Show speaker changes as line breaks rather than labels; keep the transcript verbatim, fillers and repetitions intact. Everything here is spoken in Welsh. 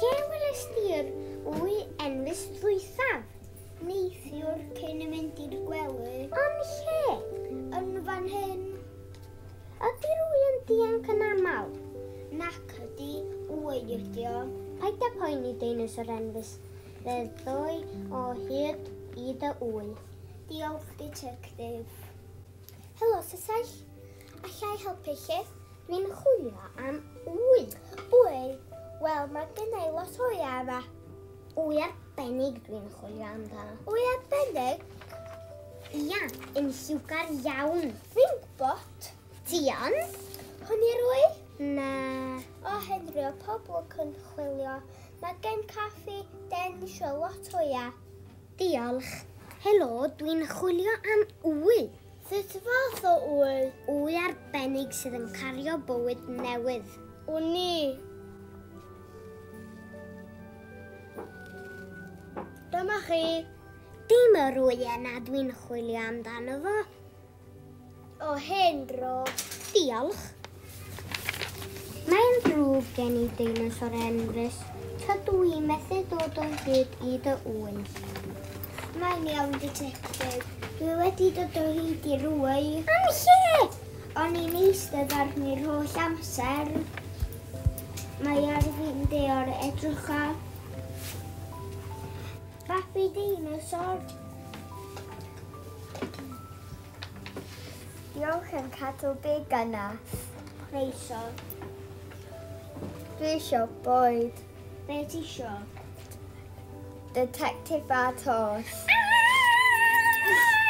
Lle weles di'r wy enfys ddwythaf?
Neithiwr cyn i mynd i'r gwely.
Yn lle?
Yn fan hyn.
Ydy'r wy yn dianc yn aml?
Nac ydy, wy ydy o.
Paid â poeni, deinosor enfys. Fe ddoi o hyd i dy wy.
Diolch, detective.
Helo, Sesell.
Alla i helpu chi?
Dwi'n chwilio am wy.
Wy? Wel, mae gen i lot o wyau yma.
Wy arbennig dwi'n chwilio amdano.
Wy arbennig?
Ia, yn lliwgar iawn.
Fi'n gwybod.
Ti yn?
Hwn i'r wy?
Na.
O, Henry, o pobl yn chwilio. Mae gen caffi den isio lot o wyau.
Diolch. Helo, dwi'n chwilio am wy.
Sut fath o wy?
Wy arbennig sydd yn cario bywyd newydd.
Wn i. Dyma chi.
Dim yr wy yna dwi'n chwilio amdano fo.
O, hen dro.
Diolch. Mae'n ddrwg gen i deinosor enfys. Tydw i methu dod o hyd i dy wy.
Mae'n iawn, detective. Dwi wedi dod o hyd i'r wy.
Am lle?
O'n i'n eistedd arni'r holl amser. Mae ar fin deor edrycha. Babi deinosor. Diolch yn cadw big yna. Croeso. Dwi isio bwyd. Be ti isio? Detective a tost.
Ah!